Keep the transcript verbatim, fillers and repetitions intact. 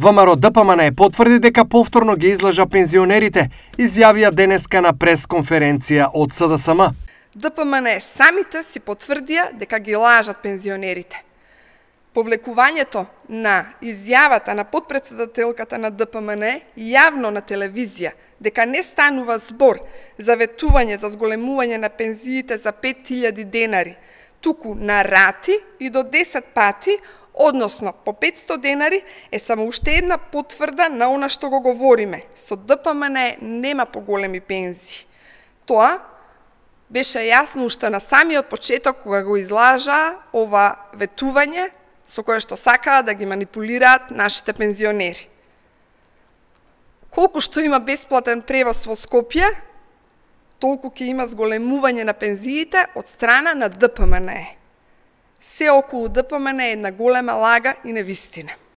ВМРО Д П М Н потврди дека повторно ги излажа пензионерите, изјавија денеска на пресконференција од С Д С М. Д П М Н самите си потврдија дека ги лажат пензионерите. Повлекувањето на изјавата на потпредседателката на Д П М Н јавно на телевизија дека не станува збор за ветување за зголемување на пензиите за пет илјади денари, туку на рати и до десет пати, односно по петсто денари, е само уште една потврда на она што го говориме. Со Д П М Н нема поголеми пензии. Тоа беше јасно уште на самиот почеток кога го излажаа ова ветување со кое што сакаа да ги манипулираат нашите пензионери. Колку што има бесплатен превоз во Скопје, толку ќе има зголемување на пензиите од страна на Д П М Н. Се околу Д П М Н е една голема лага и невистина.